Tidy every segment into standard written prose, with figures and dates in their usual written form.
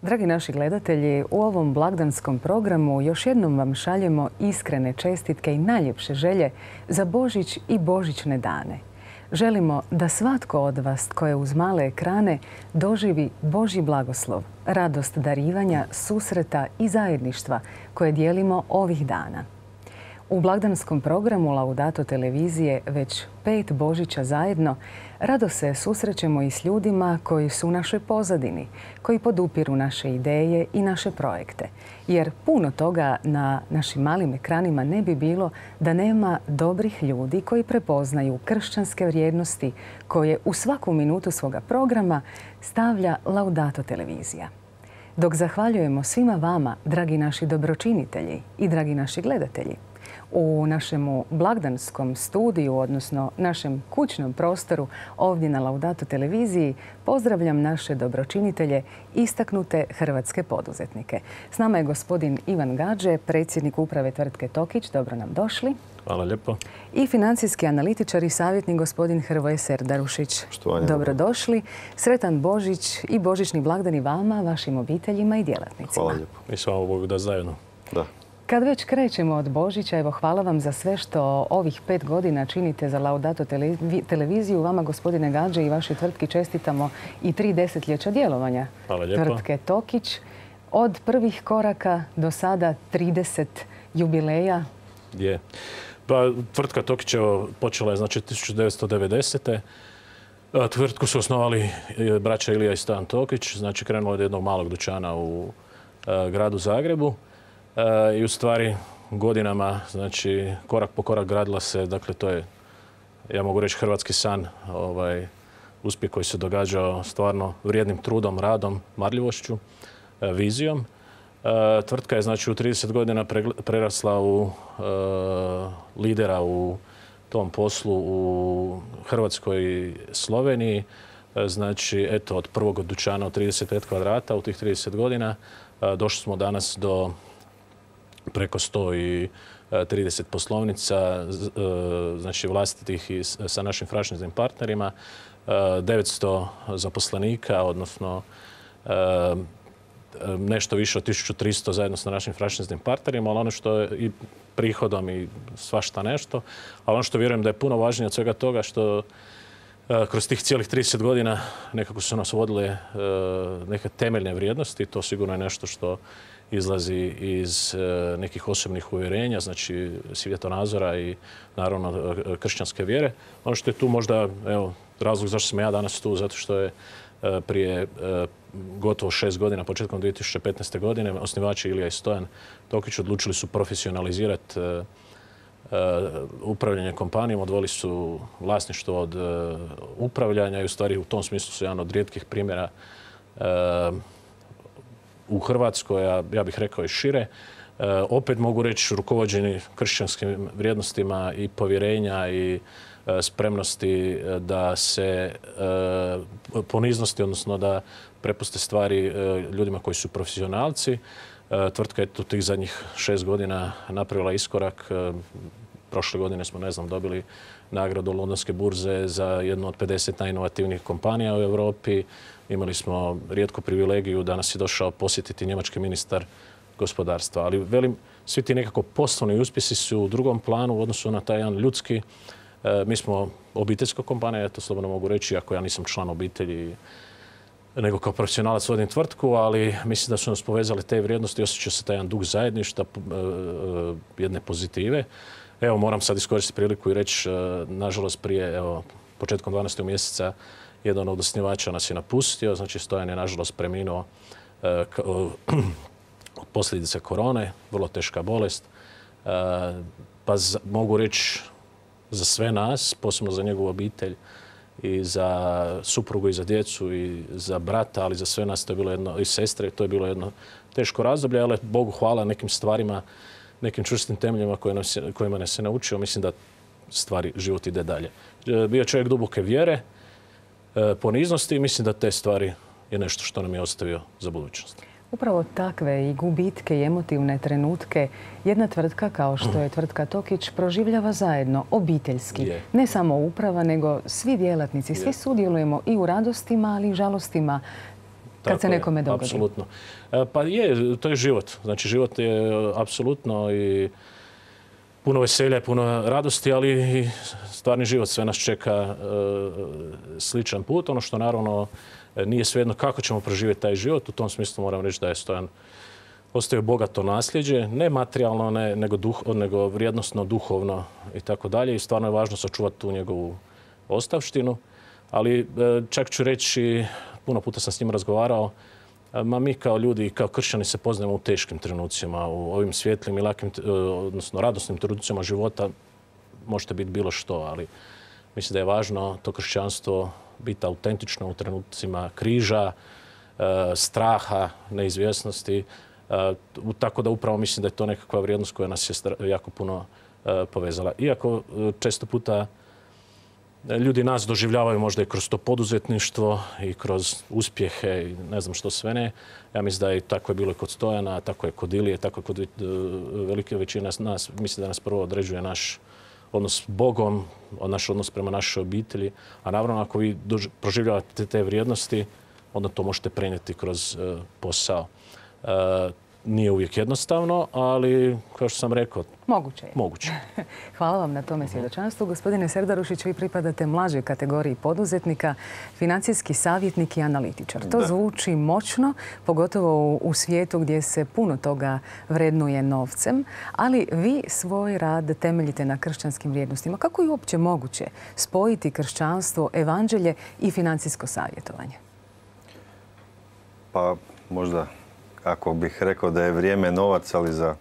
Dragi naši gledatelji, u ovom blagdanskom programu još jednom vam šaljemo iskrene čestitke i najljepše želje za Božić i božićne dane. Želimo da svatko od vas tko je uz male ekrane doživi Božji blagoslov, radost darivanja, susreta i zajedništva koje dijelimo ovih dana. U blagdanskom programu Laudato televizije već 5 Božića zajedno rado se susrećemo i s ljudima koji su u našoj pozadini, koji podupiru naše ideje i naše projekte. Jer puno toga na našim malim ekranima ne bi bilo da nema dobrih ljudi koji prepoznaju kršćanske vrijednosti koje u svaku minutu svoga programa stavlja Laudato televizija. Dok zahvaljujemo svima vama, dragi naši dobročinitelji i dragi naši gledatelji, u našemu blagdanskom studiju, odnosno našem kućnom prostoru ovdje na Laudato televiziji, pozdravljam naše dobročinitelje, istaknute hrvatske poduzetnike. S nama je gospodin Ivan Gađe, predsjednik uprave tvrtke Tokić. Dobro nam došli. Hvala lijepo. I financijski analitičar i savjetnik gospodin Hrvoje Serdarušić. Dobrodošli. Sretan Božić i božićni blagdani vama, vašim obiteljima i djelatnicima. Hvala lijepo. I slava Bogu da zajedno. Da. Kad već krećemo od Božića, evo hvala vam za sve što ovih 5 godina činite za Laudato televiziju. Vama, gospodine Gađe, i vašoj tvrtki čestitamo i 3 desetljeća djelovanja tvrtke Tokić. Od prvih koraka do sada 30 jubileja. Je. Pa, tvrtka Tokić počela je znači 1990. Tvrtku su osnovali braća Ilija i Stan Tokić. Znači krenulo od jednog malog dućana u gradu Zagrebu. I u stvari godinama, znači korak po korak gradila se, dakle to je, ja mogu reći, hrvatski san, uspjeh koji se događao stvarno vrijednim trudom, radom, marljivošću, vizijom. Tvrtka je znači u 30 godina prerasla u lidera u tom poslu u Hrvatskoj i Sloveniji. Znači, eto, od prvog dućana od 35 kvadrata u tih 30 godina došli smo danas do preko 130 poslovnica, znači vlastitih i sa našim franšiznim partnerima, 900 zaposlenika, odnosno nešto više od 1300 zajedno sa našim franšiznim partnerima, ali ono što je i prihodom i svašta nešto, ali ono što vjerujem da je puno važnije od svega toga što kroz tih cijelih 30 godina nekako su nas vodile neke temeljne vrijednosti. To sigurno je nešto što izlazi iz nekih osobnih uvjerenja, znači svjetonazora i naravno kršćanske vjere. Ono što je tu možda, evo, razlog zašto sam ja danas tu, zato što je prije gotovo 6 godina, početkom 2015. godine, osnivači Ilija i Stojan Tokić odlučili su profesionalizirati upravljanje kompanijom, odvojili su vlasništvo od upravljanja i u stvari u tom smislu su jedan od rijetkih primjera u Hrvatskoj, a ja bih rekao i šire. Opet mogu reći rukovođeni kršćanskim vrijednostima i povjerenja i spremnosti da se poniznosti, odnosno da prepuste stvari ljudima koji su profesionalci. Tvrtka je tu tih zadnjih 6 godina napravila iskorak. Prošle godine smo, dobili nagradu Londonske burze za jednu od 50 najinovativnijih kompanija u Europi. Imali smo rijetku privilegiju da nas je došao posjetiti njemački ministar gospodarstva. Ali velim, svi ti nekako poslovni uspjesi su u drugom planu u odnosu na taj jedan ljudski. Mi smo obiteljska kompanija, ja to slobodno mogu reći, ako ja nisam član obitelji, nego kao profesionalac vodim tvrtku, ali mislim da su nas povezali te vrijednosti i osjeća se taj jedan duh zajedništva, jedne pozitive. Evo, moram sad iskoristiti priliku i reći, nažalost, prije, početkom 12. mjeseca jedan od osnivača nas je napustio, znači Stojan je nažalost preminuo od posljedica korone, vrlo teška bolest. Pa mogu reći za sve nas, posebno za njegovu obitelj i za suprugu i za djecu i za brata, ali za sve nas to je bilo jedno, i sestre, to je bilo jedno teško razdoblje, ali Bogu hvala nekim stvarima, nekim čvrstim temeljima kojima nas se naučio. Mislim da život ide dalje. Bio čovjek duboke vjere, poniznosti i mislim da te stvari je nešto što nam je ostavio za budućnost. Upravo takve i gubitke i emotivne trenutke jedna tvrtka kao što je tvrtka Tokić proživljava zajedno, obiteljski. Ne samo uprava, nego svi djelatnici. Svi sudjelujemo i u radostima, ali i žalostima kad se nekome dogodi. Apsolutno. Pa je, to je život. Znači, život je apsolutno i puno veselja, puno radosti, ali i stvarni život. Sve nas čeka sličan put. Ono što naravno nije svejedno kako ćemo proživjeti taj život. U tom smislu moram reći da je Stojan ostavio bogato nasljeđe, ne materijalno, nego vrijednosno, duhovno i tako dalje. I stvarno je važno sačuvati tu njegovu ostavštinu. Ali čak ću reći, puno puta sam s njim razgovarao, mi kao ljudi i kao kršćani se poznajemo u teškim trenucima, u ovim svjetlim i lakim, odnosno radosnim trenucima života možete biti bilo što, ali mislim da je važno to kršćanstvo biti autentično u trenucima križa, straha, neizvjesnosti. Tako da upravo mislim da je to nekakva vrijednost koja nas je jako puno povezala. Iako često puta ljudi nas doživljavaju možda i kroz to poduzetništvo i kroz uspjehe i ne znam što sve ne. Ja mislim da je tako je bilo i kod Stojana, tako je kod Ilije, tako je kod velike većine nas. Mislim da nas prvo određuje naš odnos s Bogom, naš odnos prema našoj obitelji. A naravno, ako vi proživljavate te vrijednosti, onda to možete prenijeti kroz posao. Nije uvijek jednostavno, ali kao što sam rekao, moguće je. Moguće. Hvala vam na tome svjedočanstvu. Gospodine Serdarušić, vi pripadate mlađoj kategoriji poduzetnika, financijski savjetnik i analitičar. To zvuči moćno, pogotovo u svijetu gdje se puno toga vrednuje novcem, ali vi svoj rad temeljite na kršćanskim vrijednostima. Kako je uopće moguće spojiti kršćanstvo, evanđelje i financijsko savjetovanje? Pa možda ako bih rekao da je vrijeme novac, ali za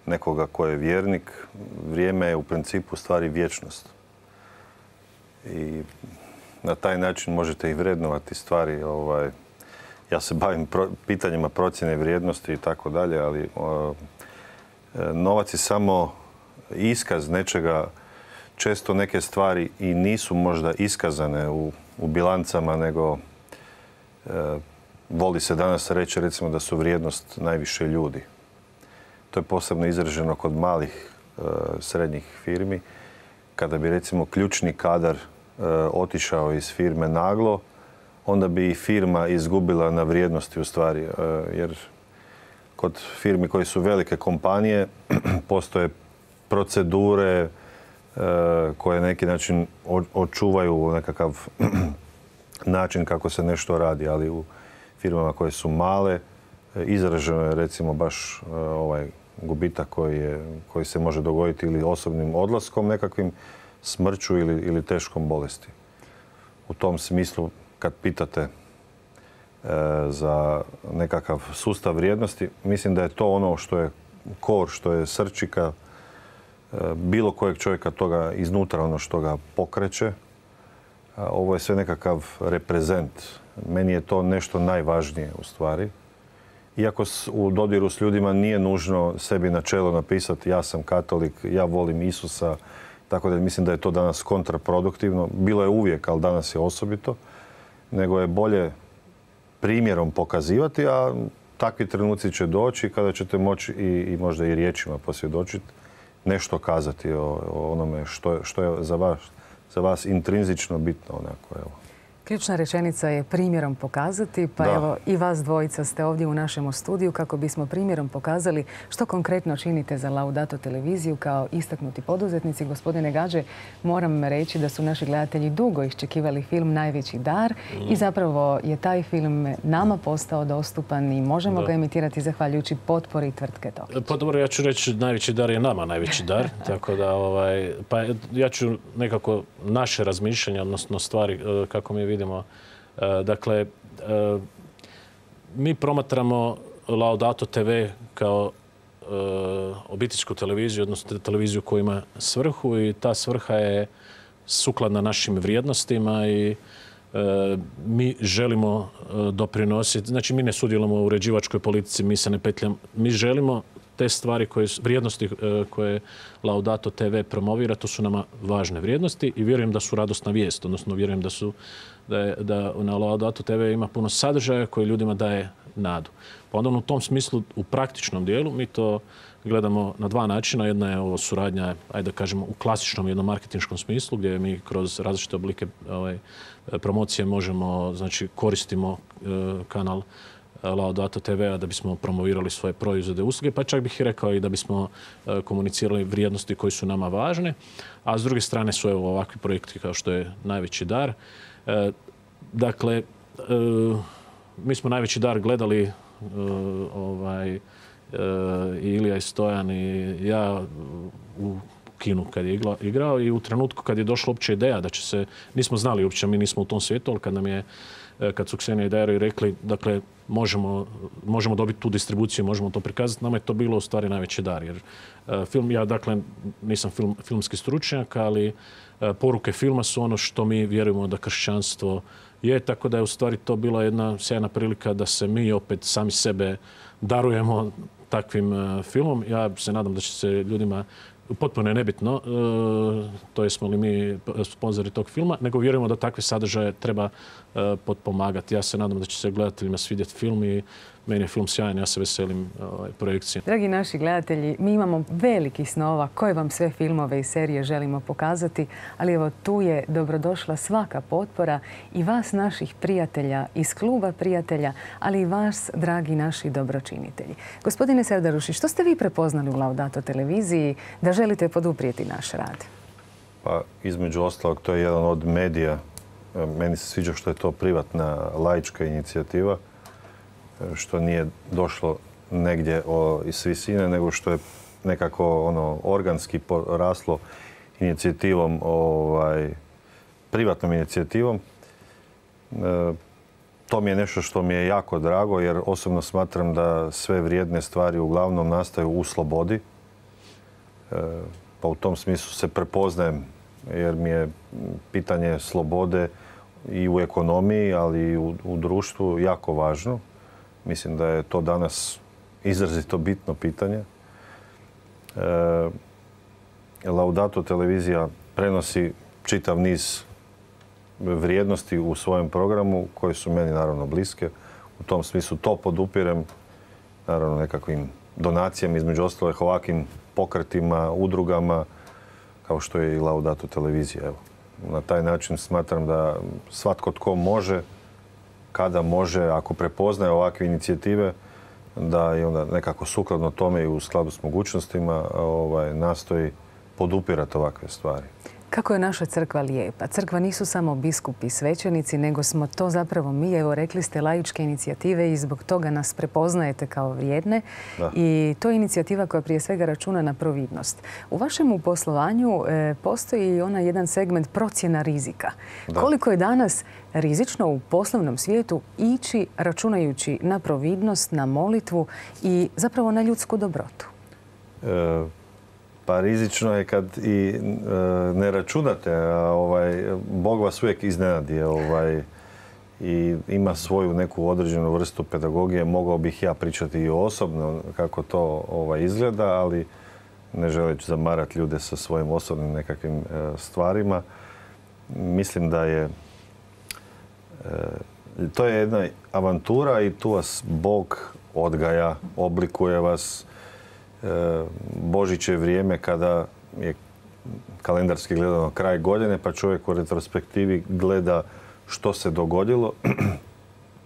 nekoga ko je vjernik, vrijeme je u principu stvari vječnost. I na taj način možete i vrednovati stvari. Ja se bavim pitanjima procjene vrijednosti i tako dalje, ali novac je samo iskaz nečega. Često neke stvari i nisu možda iskazane u bilancama, nego voli se danas reći recimo da su vrijednost najviše ljudi. To je posebno izraženo kod malih srednjih firmi. Kada bi recimo ključni kadar otišao iz firme naglo, onda bi i firma izgubila na vrijednosti u stvari. Jer kod firmi koji su velike kompanije postoje procedure koje na neki način očuvaju nekakav način kako se nešto radi, ali u firmama koje su male izraženo je recimo baš ovaj gubitak koji se može dogoditi ili osobnim odlaskom nekakvim, smrću ili teškom bolesti. U tom smislu kad pitate za nekakav sustav vrijednosti, mislim da je to ono što je kor, što je srčika bilo kojeg čovjeka, toga iznutra, ono što ga pokreće. Ovo je sve nekakav reprezent. Meni je to nešto najvažnije u stvari. Iako u dodiru s ljudima nije nužno sebi na čelo napisati ja sam katolik, ja volim Isusa, tako da mislim da je to danas kontraproduktivno. Bilo je uvijek, ali danas je osobito. Nego je bolje primjerom pokazivati, a takvi trenuci će doći kada ćete moći i možda i riječima posvjedočiti, nešto kazati o onome što je za vas intrinzično bitno. Onako, evo. Ključna rečenica je primjerom pokazati, pa evo i vas dvojica ste ovdje u našem studiju kako bismo primjerom pokazali što konkretno činite za Laudato televiziju kao istaknuti poduzetnici. Gospodine Gađe, moram reći da su naši gledatelji dugo iščekivali film Najveći dar i zapravo je taj film nama postao dostupan i možemo ga emitirati zahvaljujući potpori tvrtke Tokić. Pa dobro, ja ću reći najveći dar je nama najveći dar, tako da pa ja ću nekako naše razmišljanje, odnosno stvari kako mi vidimo. Dakle, mi promatramo Laudato TV kao obiteljsku televiziju, odnosno televiziju koja ima svrhu i ta svrha je sukladna našim vrijednostima i mi želimo doprinositi. Znači, mi ne sudjelujemo u uređivačkoj politici, mi se ne petljamo. Mi želimo te stvari, vrijednosti koje Laudato TV promovira, to su nama važne vrijednosti i vjerujem da su radosna vijest, odnosno vjerujem da na Laudato TV ima puno sadržaja koji ljudima daje nadu. Pa onda u tom smislu, u praktičnom dijelu, mi to gledamo na dva načina. Jedna je ovo suradnja, ajde da kažemo, u klasičnom jednom marketinškom smislu, gdje mi kroz različite oblike promocije možemo, znači koristimo kanal Laudato TV-a da bismo promovirali svoje proizvode i usluge, pa čak bih i rekao i da bismo komunicirali vrijednosti koji su nama važne. A s druge strane su ovakvi projekti kao što je Najveći dar. Dakle, mi smo Najveći dar gledali i Ilija i Stojan i ja u kinu kad je igrao i u trenutku kad je došla uopće ideja da će se, nismo znali uopće, mi nismo u tom svijetu, ali kad su Ksenija i Dajro rekli, dakle, možemo dobiti tu distribuciju, možemo to prikazati, nama je to bilo u stvari najveći dar. Jer film, ja dakle nisam filmski stručnjak, ali poruke filma su ono što mi vjerujemo da kršćanstvo je, tako da je u stvari to bila jedna sjajna prilika da se mi opet sami sebe darujemo takvim filmom. Ja se nadam da će se ljudima, potpuno je nebitno, to jesmo li mi sponzori tog filma, nego vjerujemo da takve sadržaje treba potpomagati. Ja se nadam da će se gledateljima svidjeti film i meni je film sjajan, ja se veselim projekciji. Dragi naši gledatelji, mi imamo velikih snova koje vam sve filmove i serije želimo pokazati, ali evo tu je dobrodošla svaka potpora i vas, naših prijatelja iz kluba prijatelja, ali i vas, dragi naši dobročinitelji. Gospodine Serdaruši, što ste vi prepoznali u Laudato televiziji da želite poduprijeti naš rad? Pa, između ostalog, to je jedan od medija. Meni se sviđa što je to privatna, laička inicijativa, što nije došlo negdje iz visine, nego što je nekako organski poraslo inicijativom, privatnom inicijativom. To mi je nešto što mi je jako drago, jer osobno smatram da sve vrijedne stvari uglavnom nastaju u slobodi. Pa u tom smislu se prepoznajem, jer mi je pitanje slobode i u ekonomiji, ali i u društvu jako važno. Mislim da je to danas izrazito bitno pitanje. Laudato televizija prenosi čitav niz vrijednosti u svojem programu koje su meni naravno bliske. U tom smislu to podupirem, naravno nekakvim donacijama, između ostalih ovakvim pokretima, udrugama, kao što je i Laudato televizija. Evo, na taj način smatram da svatko tko može, kada može, ako prepoznaje ovakve inicijative, da je onda nekako sukladno tome i u skladu s mogućnostima nastoji podupirati ovakve stvari. Kako je naša crkva lijepa. Crkva nisu samo biskupi i svećenici, nego smo to zapravo mi. Evo, rekli ste laičke inicijative i zbog toga nas prepoznajete kao vrijedne. Da. I to je inicijativa koja prije svega računa na providnost. U vašem poslovanju postoji i onaj jedan segment procjena rizika. Da. Koliko je danas rizično u poslovnom svijetu ići računajući na providnost, na molitvu i zapravo na ljudsku dobrotu? Pa rizično je kad i ne računate, a Bog vas uvijek iznenadi i ima svoju neku određenu vrstu pedagogije. Mogao bih ja pričati i osobno kako to izgleda, ali ne želeći zamarati ljude sa svojim osobnim nekakvim stvarima. Mislim da je to je jedna avantura i tu vas Bog odgaja, oblikuje vas. Božić je vrijeme kada je kalendarski gledano kraj godine, pa čovjek u retrospektivi gleda što se dogodilo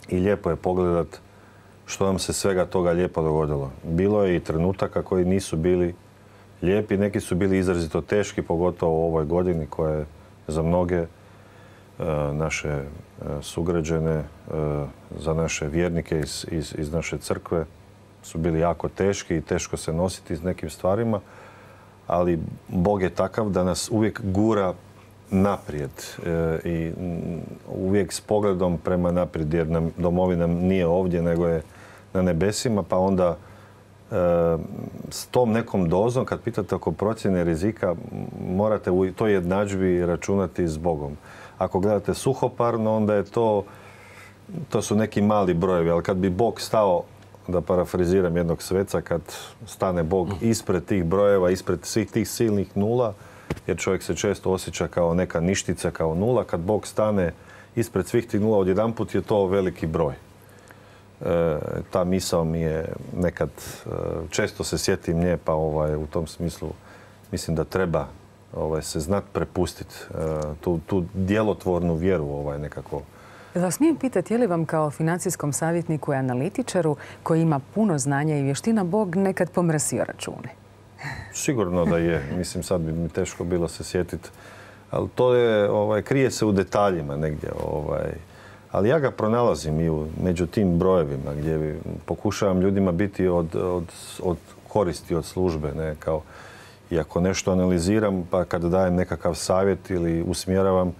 i lijepo je pogledat što nam se svega toga lijepo dogodilo. Bilo je i trenutaka koji nisu bili lijepi, neki su bili izrazito teški, pogotovo u ovoj godini koja je za mnoge naše sugrađane, za naše vjernike iz naše crkve su bili jako teški i teško se nositi s nekim stvarima, ali Bog je takav da nas uvijek gura naprijed i uvijek s pogledom prema naprijed, jer nam domovina nije ovdje nego je na nebesima, pa onda s tom nekom dozom, kad pitate oko procjene rizika, morate u toj jednadžbi računati s Bogom. Ako gledate suhoparno, onda je to su neki mali brojevi, ali kad bi Bog stao, da parafraziram jednog sveca, kad stane Bog ispred tih brojeva, ispred svih tih silnih nula, jer čovjek se često osjeća kao neka ništica, kao nula, kad Bog stane ispred svih tih nula odjedanput je to veliki broj. Ta misao mi je nekad, često se sjetim nje, pa u tom smislu mislim da treba se znat prepustiti tu djelotvornu vjeru nekako. Da vas smijem pitati, je li vam kao financijskom savjetniku i analitičaru koji ima puno znanja i vještina Bog nekad pomrsio račune? Sigurno da je. Mislim, sad bi mi teško bilo se sjetiti. Ali to je, krije se u detaljima negdje. Ali ja ga pronalazim i među tim brojevima gdje pokušavam ljudima biti od koristi, od službe. Ne? I ako nešto analiziram, pa kada dajem nekakav savjet ili usmjeravam,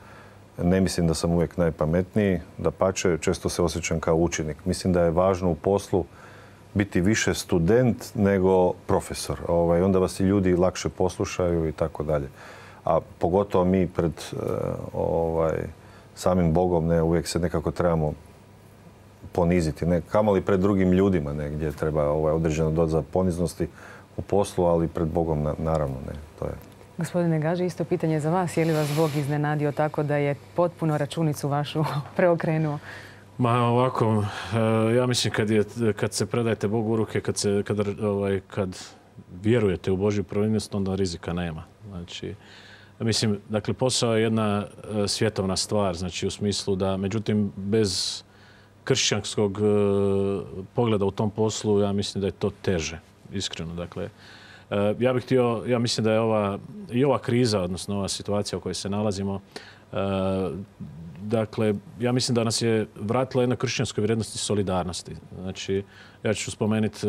ne mislim da sam uvijek najpametniji. Dapače, često se osjećam kao učenik. Mislim da je važno u poslu biti više student nego profesor. Onda vas i ljudi lakše poslušaju i tako dalje. A pogotovo mi pred samim Bogom uvijek se nekako trebamo poniziti. Kamoli pred drugim ljudima gdje treba određena doza poniznosti u poslu, ali pred Bogom naravno ne. To je. Gospodine Gaži, isto pitanje za vas. Je li vas Bog iznenadio tako da je potpuno računicu vašu preokrenuo? Ma ovako, ja mislim kad se predajete Bogu u ruke, kad vjerujete u Božju providnost, onda rizika nema. Znači, mislim, dakle, posao je jedna svjetovna stvar, znači u smislu da, međutim, bez kršćanskog pogleda u tom poslu, ja mislim da je to teže, iskreno. Dakle, ja mislim da je ova kriza, odnosno ova situacija u kojoj se nalazimo, dakle, ja mislim da nas je vratila jedna kršćanskoj vrijednosti solidarnosti. Znači, ja ću spomenuti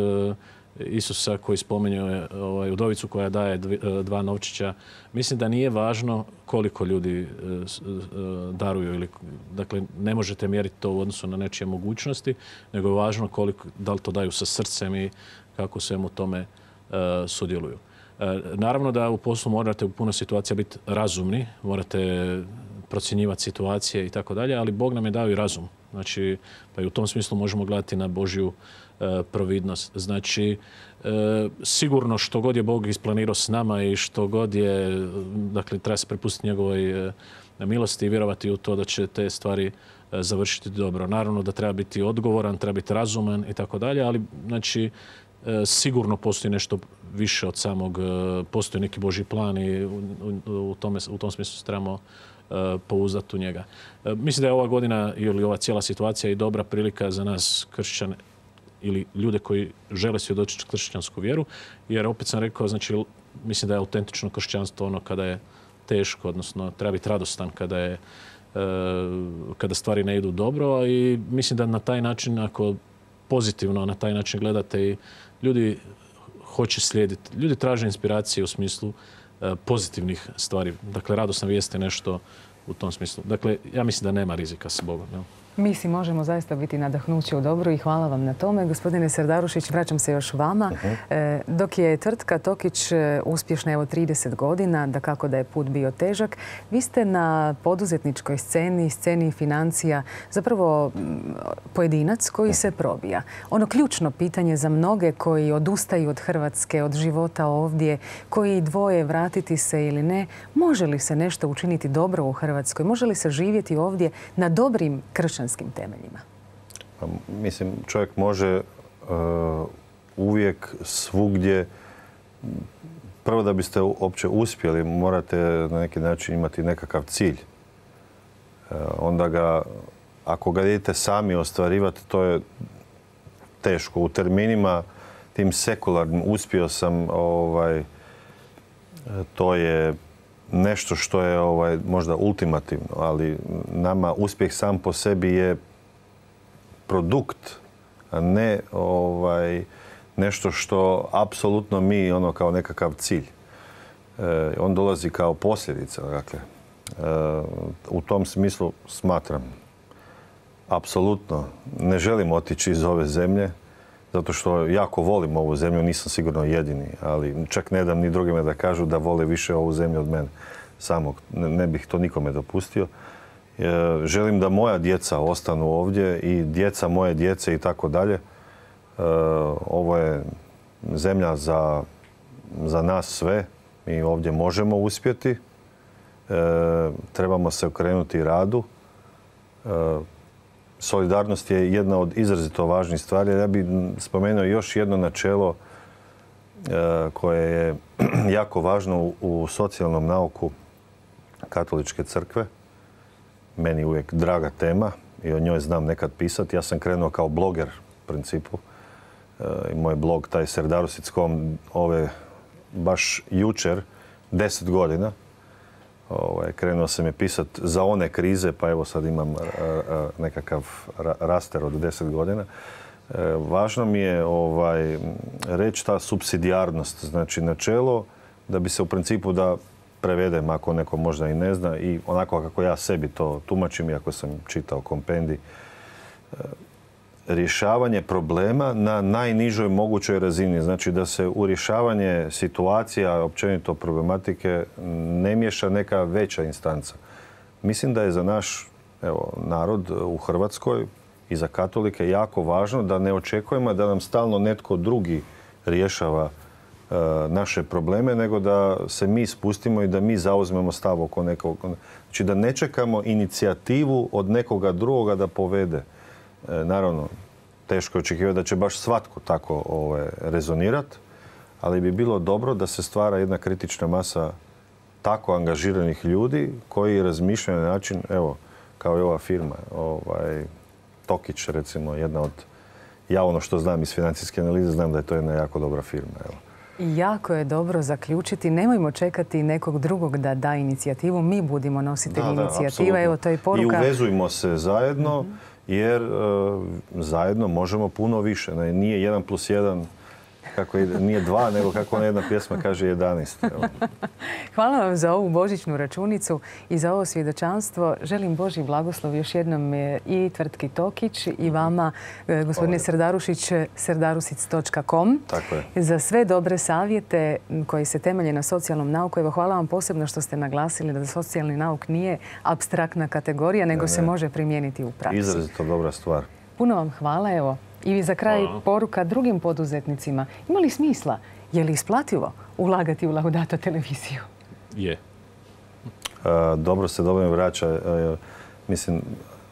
Isusa koji spominje udovicu koja daje 2 novčića. Mislim da nije važno koliko ljudi daruju. Dakle, ne možete mjeriti to u odnosu na nečije mogućnosti, nego je važno da li to daju sa srcem i kako svemu tome sudjeluju. Naravno da u poslu morate u puno situacija biti razumni, morate procjenjivati situacije i tako dalje, ali Bog nam je dao i razum. Znači, pa i u tom smislu možemo gledati na Božju providnost. Znači, sigurno što god je Bog isplanirao s nama i što god je, dakle, treba se prepustiti njegovoj milosti i vjerovati u to da će te stvari završiti dobro. Naravno da treba biti odgovoran, treba biti razuman i tako dalje, ali znači, sigurno postoji nešto više od samog, postoji neki Božji plan i u tom smislu se trebamo pouzdati u njega. Mislim da je ova godina ili ova cijela situacija i dobra prilika za nas kršćane ili ljude koji žele svjedočiti kršćansku vjeru, jer opet sam rekao, znači, mislim da je autentično kršćanstvo ono kada je teško, odnosno treba biti radostan kada stvari ne idu dobro, i mislim da na taj način, ako pozitivno na taj način gledate, i ljudi hoće slijediti, ljudi traže inspiracije u smislu pozitivnih stvari. Dakle, radosna vijest je nešto u tom smislu. Dakle, ja mislim da nema rizika s Bogom. Ja. Mi si možemo zaista biti nadahnuće u dobru i hvala vam na tome. Gospodine Serdarušić, vraćam se još vama. Dok je tvrtka Tokić uspješna 30 godina, dakako da je put bio težak, vi ste na poduzetničkoj sceni financija, zapravo pojedinac koji se probija. Ono ključno pitanje za mnoge koji odustaju od Hrvatske, od života ovdje, koji dvoje vratiti se ili ne, može li se nešto učiniti dobro u Hrvatskoj? Može li se živjeti ovdje na dobrim kršćanskim temeljima? Mislim, čovjek može uvijek svugdje, prvo da biste uopće uspjeli, morate na neki način imati nekakav cilj. Onda ga, ako ga idete sami ostvarivati, to je teško. U terminima tim sekularnim uspio sam, to je nešto što je možda ultimativno, ali nama uspjeh sam po sebi je produkt, a ne nešto što apsolutno mi kao nekakav cilj. On dolazi kao posljedica. Dakle, u tom smislu smatram, apsolutno ne želim otići iz ove zemlje, zato što jako volim ovu zemlju, nisam sigurno jedini, ali čak ne dam ni drugima da kažu da vole više ovu zemlju od mene samog. Ne bih to nikome dopustio. Želim da moja djeca ostanu ovdje i djeca moje djece i tako dalje. Ovo je zemlja za nas sve. Mi ovdje možemo uspjeti. Trebamo se okrenuti radu. Solidarnost je jedna od izrazito važnih stvari. Ja bih spomenuo još jedno načelo koje je jako važno u socijalnom nauku Katoličke crkve. Meni uvijek draga tema i o njoj znam nekad pisati. Ja sam krenuo kao bloger u principu. I moj blog, taj Serdarusic.com, baš jučer, 10 godina. Krenuo sam je pisati za one krize, pa evo sad imam nekakav raster od 10 godina. Važno mi je reći ta supsidijarnost, znači načelo da bi se u principu, da prevedem ako neko možda i ne zna, i onako kako ja sebi to tumačim, iako sam čitao kompendij, rješavanje problema na najnižoj mogućoj razini. Znači da se u rješavanje situacija, općenito problematike, ne miješa neka veća instanca. Mislim da je za naš narod u Hrvatskoj i za katolike jako važno da ne očekujemo da nam stalno netko drugi rješava naše probleme, nego da se mi spustimo i da mi zauzmemo stav oko nekog. Znači da ne čekamo inicijativu od nekoga drugoga da povede. Naravno, teško je očekivati da će baš svatko tako rezonirati, ali bi bilo dobro da se stvara jedna kritična masa tako angažiranih ljudi koji razmišljaju na način, evo, kao i ova firma, Tokić, recimo, jedna od, ja ono što znam iz financijske analize, znam da je to jedna jako dobra firma. Evo. I jako je dobro zaključiti, nemojmo čekati nekog drugog da da inicijativu, mi budimo nositelji inicijativa. Evo, to je poruka. I uvezujmo se zajedno, jer zajedno možemo puno više. Nije 1+1, nije 2, nego kako ona jedna pjesma kaže 11. Evo. Hvala vam za ovu božićnu računicu i za ovo svjedočanstvo. Želim Božji blagoslov još jednom i tvrtki Tokić i vama, gospodine Serdarušić, serdarusic.com. Tako je. Za sve dobre savjete koji se temelje na socijalnom nauku. Evo, hvala vam posebno što ste naglasili da socijalni nauk nije apstraktna kategorija, nego se može primijeniti u praksi. Izrazito dobra stvar. Puno vam hvala. Evo, i za kraj poruka drugim poduzetnicima. Ima li smisla? Je li isplativo ulagati u Laudato televiziju? Je. Dobro se dobro vraća. Mislim,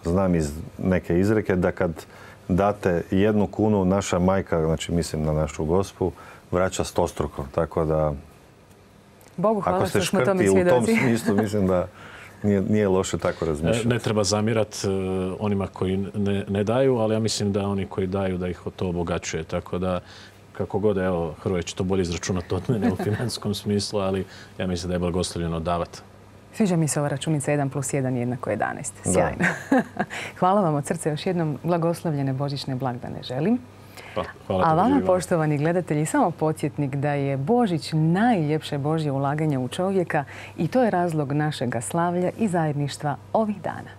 znam iz neke izreke da kad date 1 kunu, naša majka, znači mislim na našu Gospu, vraća 100-struko. Tako da, Bogu hvala što smo tome svjedoci. svjedoci. U tom smislu mislim da nije loše tako razmišljati. Ne treba zamirati onima koji ne daju, ali ja mislim da oni koji daju da ih to obogaćuje. Tako da, kako god, evo, Hrvoje će to bolje izračunati od mene u financijskom smislu, ali ja mislim da je blagoslovljeno davati. Sviđa mi se ova računica 1+1 jednako 11. Sjajno. Hvala vam od srca, još jednom blagoslovljene božićne blagdane želim. A vama, poštovani gledatelji, samo podsjetnik da je Božić najljepše Božje ulaganje u čovjeka i to je razlog našega slavlja i zajedništva ovih dana.